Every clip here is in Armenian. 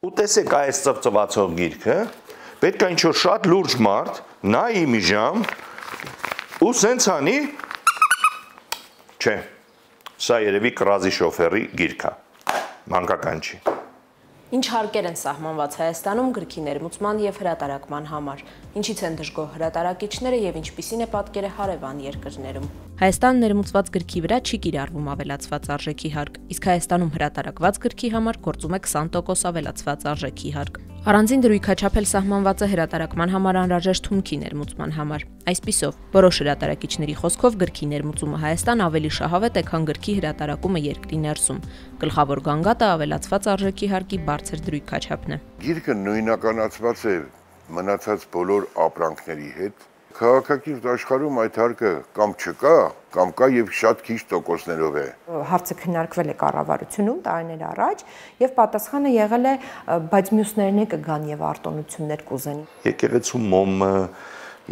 Ու տեսեք այս ծվծվացող գիրքը, պետք է ինչ-որ շատ լուրջ մարդ, նայի մի ժամ, ու սենց անի, չէ, սա երևի կռազի շոֆերի գիրք է, մանկական չի։ Ինչ հարկեր են սահմանված Հայաստանում գրքի ներմուծման և հրատարակման համար, ինչից են դժգոհ հրատարակիչները և ինչպիսին է պատկերը հարևան երկրներում։ Հայաստան ներմուծված գրքի վրա չի կիրառվում ավելացված արժեքի հարկ, իսկ Հայաստանում հրատարակված գրքի համար գործում է 20% ավելացված արժեքի հարկ։ Առանձին դրույքաչափ էլ սահմանված է հրատարակման համար անհրաժեշտ հումքի ներմուծման համար։ Այսպիսով, որոշ հրատարակիչների խոսքով գրքի ներմուծումը Հայաստան ավելի շահավետ է, քան գրքի հրատարակումը երկրի ներսում։ Գլխավոր գանգատը ավելացված արժեքի հարկի բարձր դրույքաչափն է։ Գիրքը նույնականացված է մնացած բոլոր ապրանքների հետ։ Քաղաքակիրթ աշխարհում այդ հարկը կամ չկա, կամ կա եւ շատ քիչ տոկոսներով է։ Հարցը քննարկվել է կառավարությունում տարիներ առաջ եւ պատասխանը եղել է, բայց մյուսներն է կգան եւ արտոնություններ կուզեն։ Եկեղեցու մոմը,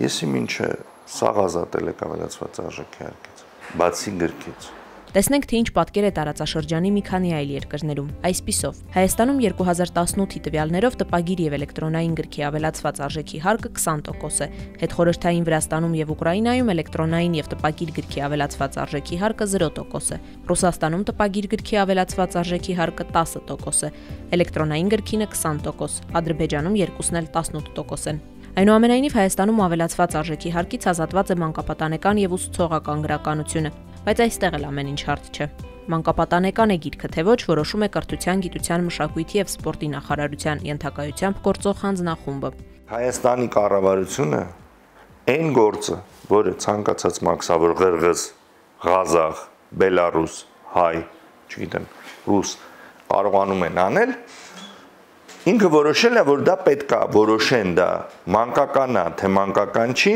եսի ինչը սաղ ազատել եք ավելացված արժեքի հարկից, բացի գրքից։ Տեսնենք, թե ինչ պատկեր է տարածաշրջանի մի քանի այլ երկրներում։ Այսպիսով, Հայաստանում 2018-ի տվյալներով տպագիր եւ էլեկտրոնային գրքի ավելացված արժեքի հարկը 20% է, հետխորհրդային Վրաստանում եւ Ուկրաինայում էլեկտրոնային եւ տպագիր գրքի ավելացված արժեքի հարկը 0% է, Ռուսաստանում տպագիր գրքի ավելացված արժեքի հարկը 10% է, էլեկտրոնային գրքինը 20%, Ադրբեջանում երկուսն էլ 18% են։ Այնուամենայնիվ Հայաստանում ավելացված արժեքի հարկից ազատված է մանկապատանեկան եւ ուսուցողական գրականությունը, բայց այստեղ էլ ամեն ինչ հարթ չէ։ Մանկապատանեկան է գիրքը, թե ոչ, որոշում է Կրթության, Գիտության, Մշակույթի եւ Սպորտի նախարարության ենթակայությամբ գործող հանձնախումբը։ Հայաստանի կառավարությունը այն գործը, որը ցանկացած մաքսավոր ղրղыз, ղազախ, բելարուս, հայ, չգիտեմ, ռուս կարողանում են անել, ինքը որոշել է, որ դա պետք է որոշեն, դա մանկական է, թե մանկական չի,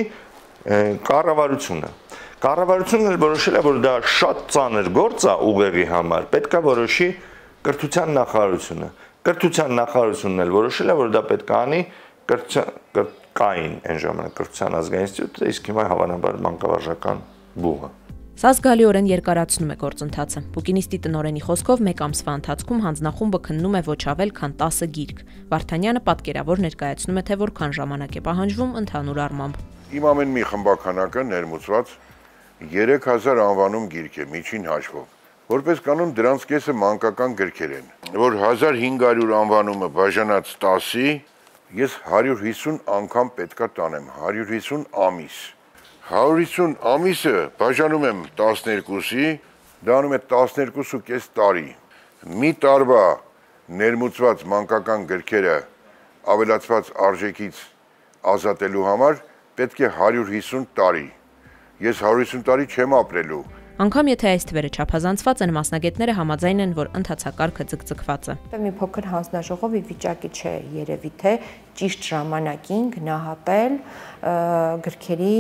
կառավարությունը։ Կառավարությունն էլ որոշել է, որ դա շատ ծանր գործ է ուղեղի համար, պետք է որոշի Կրթության նախարարությունը։ Կրթության նախարարությունն էլ որոշել է, որ դա պետք է անի կային այն ժամանակ Կրթության ազգային ինստիտուտը, իսկ հիմա հավանաբար մանկավարժական բուհը։ Սա զգալիորեն երկարացնում է գործընթացը։ Բուկինիստի տնօրենի խոսքով մեկ ամսվա ընթացքում հանձնախումբը քննում է ոչ ավել քան 10 գիրք։ Վարդանյանը պատկերավոր ներկայացնում է, թե որքան ժամանակ է պահանջվում ընդհանուր առմամբ։ Իմ ամեն մի խմբականակը ներմուծված 3000 անվանում գիրք է միջին հաշվով։ Որպես կանոն դրանց կեսը մանկական գրքեր են, որ 1500 անվանումը բաժանած 10-ի, ես 150 անգամ պետքա տանեմ, 150 ամիս։ 150 ամիսը բաժանում եմ 12-ի, դա անում է 12.5 տարի։ Մի տարվա ներմուծված մանկական գրքերը ավելացված արժեքից ազատելու համար պետք է 150 տարի։ Ես 150 տարի չեմ ապրելու։ Անկամ եթե այս թվերը չափազանցված են, մասնագետները համաձայն են, որ ընթացակարգը ձգձգված է։ Մի փոքր հանձնաժողովի վիճակի չէ երևի թե ճիշտ ժամանակին գնահատել գրքերի,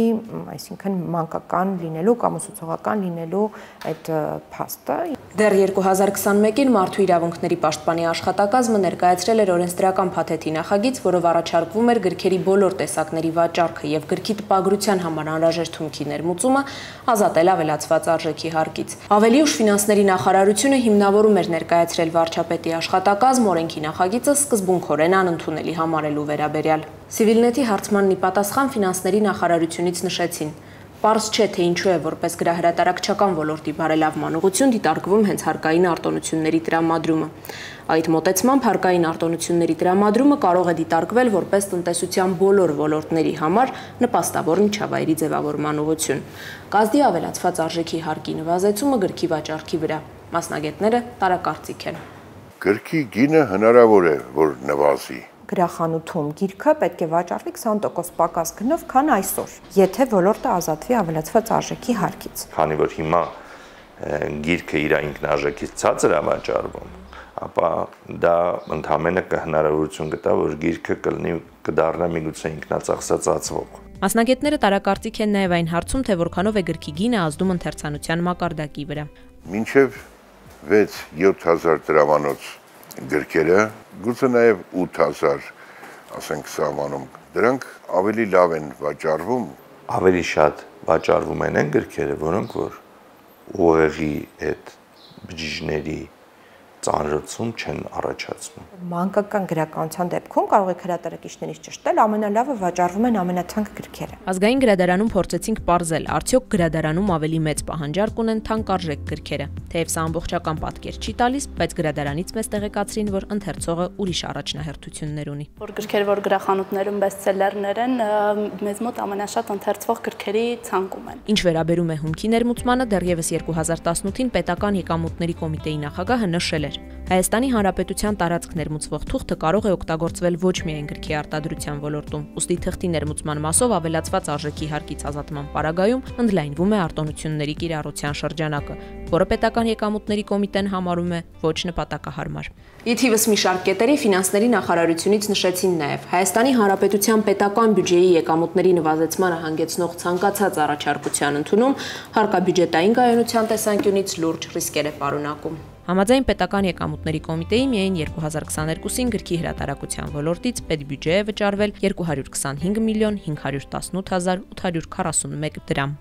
այսինքն մանկական լինելու կամ ուսուցողական լինելու այդ փաստը։ Դեռ 2021-ին Մարդու իրավունքների պաշտպանի աշխատակազմը ներկայացրել էր օրենսդրական փաթեթի նախագիծ, որով առաջարկվում էր գրքերի բոլոր տեսակների վաճառքը եւ գրքի տպագրության համար անհրաժեշտ հումքի ներմուծումը ազատել ավելացված արժեքի հարկից։ Ավելի ուշ Ֆինանսների նախարարությունը հիմնավորում էր ներկայացրել վարչապետի աշխատակազմ օրենքի նախագիծը սկզբունքորեն անընդունելի համարելու վերաբերյալ։ Civilnet-ի հարցմանն ի պատասխան Ֆինանսների նախարարությունից նշեցին. Պարզ չէ, թե ինչու է որպես գրահրատարակչական ոլորտի բարելավման ուղղություն դիտարկվում հենց հարկային արտոնությունների տրամադրումը։ Այդ մոտեցմամբ հարկային արտոնությունների տրամադրումը կարող է դիտարկվել որպես տնտեսության բոլոր ոլորտների համար նպաստավոր միջավայրի ձևավորման ուղղություն։ Կազդի ավելացված արժեքի հարկի նվազեցումը գրքի վաճառքի վրա։ Մասնագետները տարակարծիք են։ Գրքի գինը հնարավոր է, որ նվազի։ Գրախանութում գիրքը պետք է վաճառվի 20% պակաս գնով, քան այսօր, եթե ոլորտը ազատվի ավելացված արժեքի հարկից։ Քանի որ հիմա գիրքը իր ինքնարժեքից ցածր է վաճառվում, ապա դա ընդհանրապես կհնարավորություն կտա, որ գիրքը կդառնա միգուցե ինքնածախսացածվող։ Մասնագետները տարակարծիք են նաև այն հարցում, թե որքանով է գրքի գինը ազդում ընթերցանության մակարդակի վրա։ Մինչև 6-7000 դրամանոց գրքերը, գուցե նաև 8000, ասենք սահմանում, դրանք ավելի լավ են վաճառվում։ Ավելի շատ վաճառվում են գրքերը, որոնք որ ուղեղի այդ բջիջների ծանրություն չեն առաջացնում։ Մանկական գրականության դեպքում կարող եք հրատարակիչներից ճշտել, ամենալավը վաճառվում են ամենաթանկ գրքերը։ Ազգային գրադարանում փորձեցինք պարզել, արդյոք գրադարանում ավելի մեծ պահանջարկ ունեն թանկարժեք գրքերը։ Թեև սա ամբողջական պատկեր չի տալիս, բայց գրադարանից մեզ տեղեկացրին, որ ընթերցողը ուրիշ առաջնահերթություններ ունի։ Որ գրքեր, որ գրախանութներում բեսթսելերներ են, մեզ մոտ ամենաշատ ընթերցվող գրքերի ցանկում են։ Ինչ վերաբերում է հումքի ներմուծմանը, դեռևս 2018-ին պետական եկամուտների կոմիտեի նախագահը նշել էր. Հայաստանի Հանրապետության տարածք ներմուծվող թուղթը կարող է օգտագործվել ոչ միայն գրքի արտադրության ոլորտում, ուստի թղթի ներմուծման մասով ավելացված արժեքի հարկից ազատման պարագայում ընդլայնվում է արտոնությունների կիրառության շրջանակը, որը պետական եկամուտների կոմիտեն համարում է ոչ նպատակահարմար։ Ի թիվս մի շարք կետերի ֆինանսների նախարարությունից նշեցին նաև Հայաստանի Հանրապետության պետական բյուջեի եկամուտների նվազեցմանը հանգեցնող ցանկացած առաջարկության ընդունում հարկաբյուջետային կայունության տեսանկյունից լուրջ ռիսկեր է պարունակում։ Համաձայն պետական եկամուտների կոմիտեի միայն 2022-ին գրքի հրատարակության ոլորտից պետբյուջե է վճարվել 225 միլիոն 518 հազար 841 դրամ։